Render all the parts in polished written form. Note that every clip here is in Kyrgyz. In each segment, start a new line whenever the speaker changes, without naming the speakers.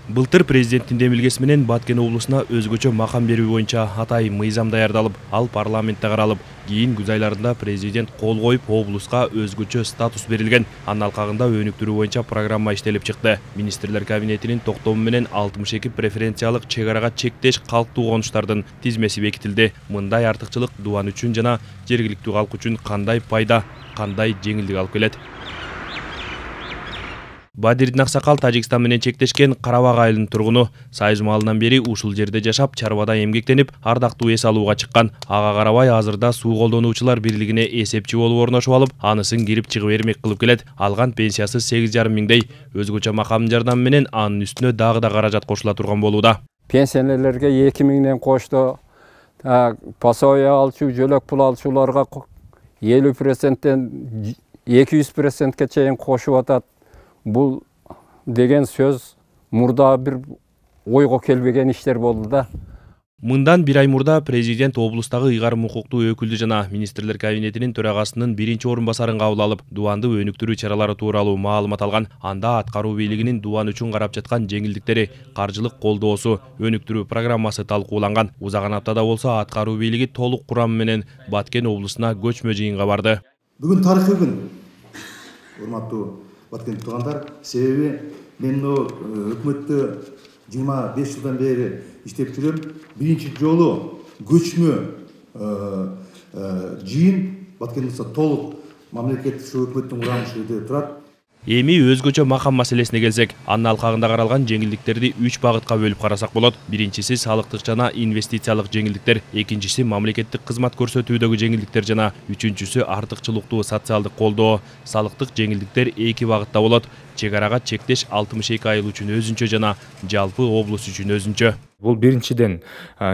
Былтыр президенттин демилгеси менен Баткен облусуна өзгөчө макам берүү боюнча атайын мыйзам даярдалып, ал парламентте каралып, кийин күз айларында президент кол коюп, облуска өзгөчө статус берилген. Анын алкагында өнүктүрүү боюнча программа иштелип чыкты. Министрлер кабинетинин токтому менен 62 преференциялык чек арага чектеш калктуу конуштардын тизмеси бекитилди. Мындай артыкчылык Дубан үчүн жана жергиликтүү калк үчүн кандай пайда, кандай жеңилдик алып келет? Бадирдин Аксакал Тажикстан менен чектешкен Карабак айылынын тургуну. Сайыз маалынан бери ушул жерде жашап, чарбада эмгектенип, ардактуу эс алууга чыккан. Ага карабай азырда суу колдонуучулар бирлигине эсепчи болуп орношуп алып, анысын кирип чыгып эрмек кылып келет. Алган пенсиясы 8,5 миңдей. Өзгөчө макам жардамы менен анын үстүнө дагы да каражат кошула турган болууда.
Пенсионерлерге 2 миңден кошту. Пособие алчу, жөлөк пул алчуларга 50%тен 200%ке чейин кошуп атат. Бул деген сөз мурда бир ойго келбеген иштер болду да.
Мындан бир ай мурда президент облустагы ыйгарым укуктуу өкүлдү жана министрлер кабинетинин төрагасынын биринчи орун басарын кабыл алып, Дубанды өнүктүрүү чаралары тууралуу маалымат алган. Анда аткаруу бийлигинин Дубан үчүн карап жаткан жеңилдиктери, каржылык колдоосу, өнүктүрүү программасы талкууланган. Узаган аптада болсо аткаруу бийлиги толук курамы менен Баткен облусуна көчмө жыйынга барды.
Бүгүн тарыхый күн. Урматтуу Баткен туугандар, себеби мен өкмөттө 25 жылдан бери иштеп жүрөм. Биринчи жолу көчмө жыйын Баткенде толук мамлекет ушу өкмөттүн курамында турат.
Эми өзгөчө макам маселесине келсек, анын алкагында каралган жеңилдиктерди 3 багытка бөлүп карасак болот. Биринчиси салыктык жана инвестициялык жеңилдиктер, экинчиси мамлекеттик кызмат көрсөтүүдөгү жеңилдиктер жана үчүнчүсү артыкчылыктуу социалдык колдоо. Салыктык жеңилдиктер 2 багытта болот. Чек арага чектеш 62 айыл үчүн өзүнчө жана жалпы облус үчүн өзүнчө.
Бул биринчиден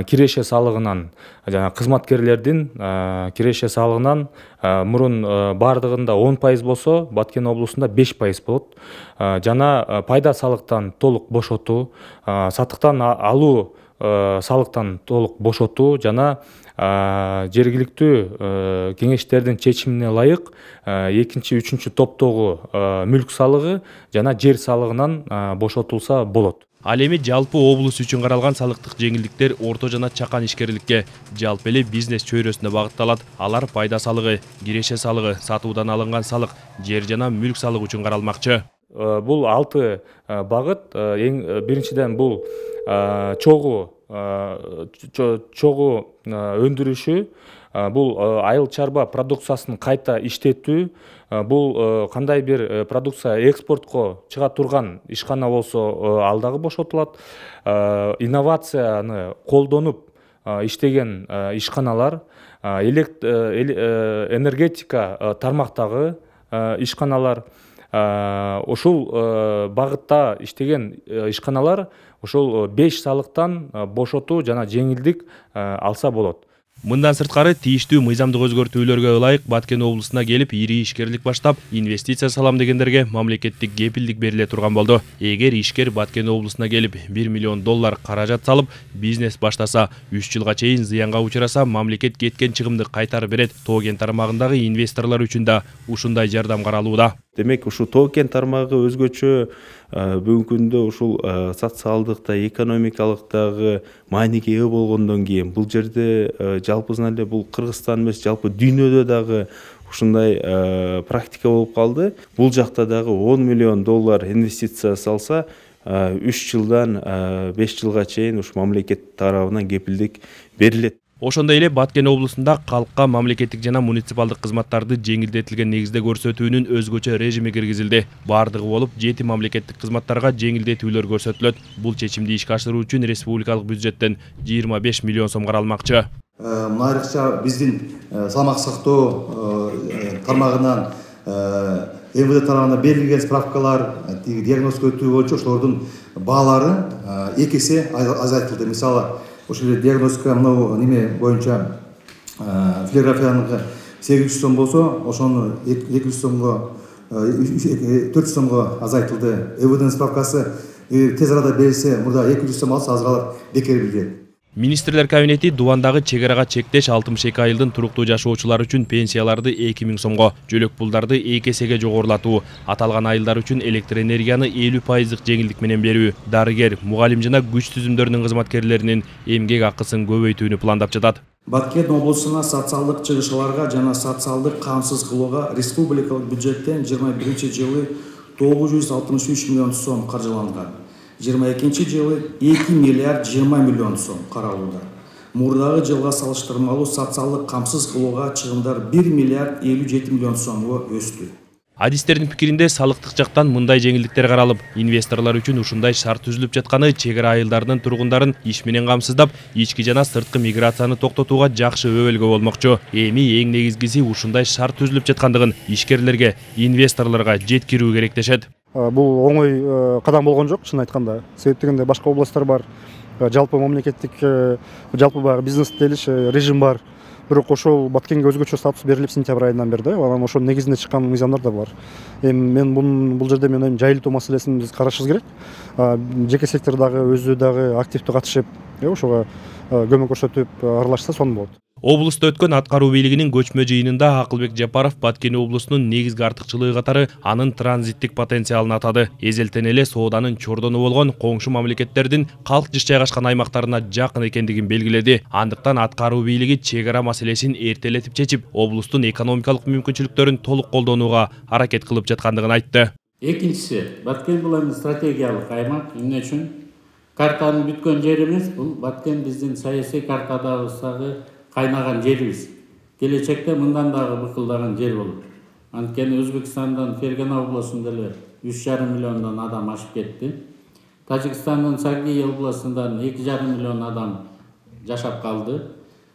киреше салыгынан жана кызматкерлердин киреше салыгынан мурун бардыгында 10% болсо, Баткен облусунда 5% болот. Жана пайда салыктан толук бошотуу, сатыктан алуу салыктан толук бошотуу жана жергиликтүү кеңештердин чечимине ылайык экинчи, үчүнчү топтогу мүлк салыгы жана жер салыгынан бошотулса болот.
Ал эми жалпы облус үчүн каралган салыктык жеңилдиктер орто жана чакан ишкерликке, жалпы эле бизнес чөйрөсүнө багытталат. Алар пайда салыгы, киреше салыгы, сатуудан алынган салык, жер жана мүлк салыгы үчүн каралмакчы.
Бул 6 багыт. Биринчиден бул чогуу өндүрүшү, бул айыл чарба продукциясын кайта иштетүү, бул кандай бир продукция экспортко чыга турган ишкана болсо ал дагы бошотулат. Инновацияны колдонуп иштеген ишканалар, энергетика тармактагы ишканалар, ушул багытта иштеген ишканалар ушул 5 салыктан бошотуу жана жеңилдик алса болот.
Мындан сырткары тийиштүү мыйзамдык өзгөртүүлөргө ылайык Баткен облусуна келип, ири ишкерлик баштап, инвестиция салам дегендерге мамлекеттик кепилдик бериле турган болду. Эгер ишкер Баткен облусуна келип $1 миллион каражат салып, бизнес баштаса, 3 жылга чейин зыянга учураса, мамлекет кеткен чыгымды кайтарып берет. Тоо-кен тармагындагы инвесторлор үчүн да ушундай жардам каралууда.
Демек, ушул тоо-кен тармагы өзгөчө бүгүнкү күндө ушул социалдык да, экономикалык дагы мааниге ээ болгондон кийин бул жерде жалпысынан эле бул Кыргызстан эмес, жалпы дүйнөдө дагы ушундай практика болуп калды. Бул жакта дагы $10 миллион инвестиция салса, 3 жылдан 5 жылга чейин ушу мамлекет тарабынан кепилдик берилет.
Ошондой эле Баткен облусунда калкка мамлекеттик жана муниципалдык кызматтарды жеңилдетилген негизде көрсөтүүнүн өзгөчө режими киргизилди. Бардыгы болуп 7 мамлекеттик кызматтарга жеңилдетүүлөр көрсөтүлөт. Бул чечимди ишке ашыруу үчүн республикалык бюджеттен $25 миллион каралмакчы.
Мына айрыкча биздин салмак сактоо тармагынан МВД тарабынан берилген справкалар, диагностика өтүү боюнча ошолордун баалары 2 эсе азайтылды. Мисалы, ошол диагностика мынау неме боюнча флюорографияны 800 сом болсо, ошону 200 сомго 400 сомго азайтылды. МВДнын справкасы тез арада берилсе, мурда 200 сом алса азыр алар бекер билет.
Министрлер кабинети Дубандагы чегарага чектеш 62 айылдын туруктуу жашоочулар үчүн пенсияларды 2000 сомго, жөлөк пулдарды 2 эсеге жогорулатуу, аталган айылдар үчүн электр энергияны 50% жеңилдик менен берүү, дарыгер, мугалим жана күч түзүмдөрүнүн кызматкерлеринин эмгек акысын көбөйтүүнү пландап жатат.
Баткен облусуна социалдык чыгышыларга жана социалдык камсыз кылууга республикалык бюджеттен 21-жылы 963 миллион сом каржыланган. 22-жылы 2 миллиард 20 миллион сом каралууда. Мурдагы жылга салыштырмалуу социалдык камсыз кылууга чыгымдар 1 миллиард 57 миллион сомго өстү.
Адистердин пикиринде салыктык жактан мындай жеңилдиктер каралып, инвесторлор үчүн ушундай шарт түзүлүп жатканы чегара айылдарынын тургундарын иш менен камсыздап, ички жана сырткы миграцияны токтотууга жакшы өбөлгө болмокчу. Эми эң негизгиси ушундай шарт түзүлүп жаткандыгын ишкерлерге, инвесторлорго жеткирүү керек дешет.
Бул оңой кадам болгон жок, чын айтканда. Себеп дегенде башка областтар бар, жалпы мамлекеттик, жалпы бар бизнес делиш режим бар. Бирок ошол Баткенге өзгөчө статус берилип сентябрь айынан бери, анан ошол негизинде чыккан мыйзамдар да бар. Мен бул жерде мен ойм жайылтуу маселесин биз карашыбыз керек. Жеке сектор дагы өзү дагы активдүү катышып, ошого көмөк көрсөтүп аралашса сонун болот.
Облуста өткөн аткаруу бийлигинин көчмө жыйынында Акылбек Жапаров Баткен облусунун негизги артыкчылыгы катары анын транзиттик потенциалын атады. Эзелтен эле сооданын чордону болгон коңшу мамлекеттердин калк жыш жайгашкан аймактарына жакын экендигин белгиледи. Андыктан аткаруу бийлиги чегара маселесин эртелетип чечип, облустун экономикалык мүмкүнчүлүктөрүн толук колдонууга аракет кылып жаткандыгын айтты.
Экинчиси, Баткен бул эми стратегиялык аймак. Эмне үчүн? Картанын бүткөн жери эмес, бул Баткен биздин саясий картадагы кайнаган жерибиз. Келечекте мындан дагы быкылдаган жер болот. Анткени Өзбекстандан Фергана областында эле 3,5 миллиондон адам ашып кетти. Тажикстандын Сагый областынан 2,5 миллион адам жашап калды.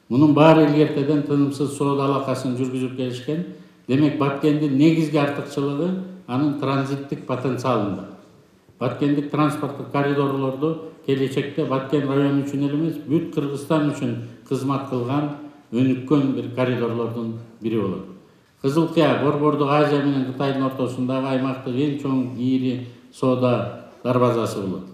Мунун баары илгертеден тынымсыз соода алакасын жүргүзүп келишкен. Демек Баткендин негизги артыкчылыгы анын транзиттик потенциалында. Баткендик транспорттук коридорлорду келечекте Баткен району үчүн эле эмес, бүт Кыргызстан үчүн кызмат кылган өнүккөн бир коридорлордун бири болот. Кызыл Кыя, Борбордук Азия менен Кытайдын ортосундагы аймактык эң чоң ири соода дарбазасы болот.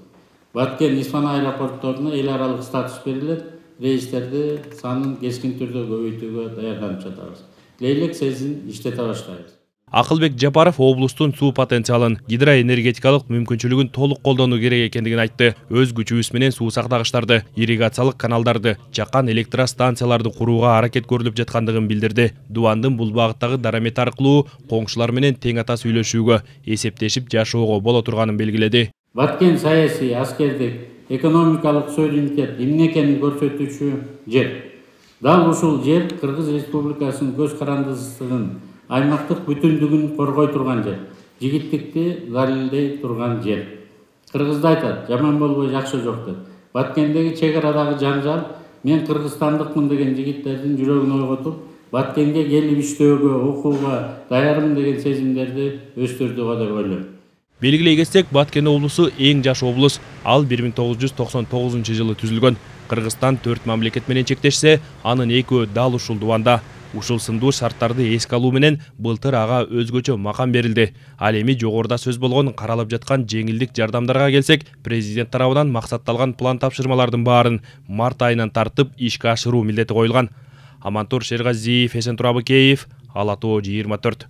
Баткен Исфан аэропортторуна эл аралык статус берилет, рейстерди санын кескин түрдө көбөйтүүгө даярданып жатабыз. Лейлек сезин иштете баштайбыз.
Акылбек Жапаров облустун суу потенциалын, гидроэнергетикалык мүмкүнчүлүгүн толук колдонуу керек экендигин айтты. Өз күчүбүз менен суу сактагычтарды, ирригациялык каналдарды, жаккан электростанцияларды курууга аракет көрүлүп жаткандыгын билдирди. Дубандын бул багыттагы дарамет аркылуу коңшулар менен тең ата сүйлөшүүгө, эсептешип жашоого боло турганын белгиледи.
Баткен саясий, аскердик, экономикалык суверенитет эмне экенин көрсөтүүчү жер. Дал ушул жер Кыргыз Республикасынын көз карандысынын аймактык бүтүндүгүн коргой турган жер, жигиттикти далилдей турган жер. Кыргызда айтат, жаман болбой жакшы жок деп. Баткендеги чегарадагы жанжал мен кыргызстандыкмын деген жигиттердин жүрөгүн ойготуп, Баткенге келип иштөөгө, окууга даярмын деген сезимдерди өстүрдүгө деп ойлойм.
Белгилей кетсек, Баткен облусу эң жаш облус. Ал 1999-жылы түзүлгөн. Кыргызстан 4 мамлекет менен чектешсе, анын экөө дал ушул Дубанда. Ушул сындуу шарттарды эске алуу менен былтыр ага өзгөчө макам берилди. Ал эми жогоруда сөз болгон каралып жаткан жеңилдик жардамдарга келсек, президент тарабынан максатталган план тапшырмалардын баарын март айынан тартып ишке ашыруу милдети коюлган. Амантур Шергазиев, Эсен Турабыкеев, Ала Тоо 24.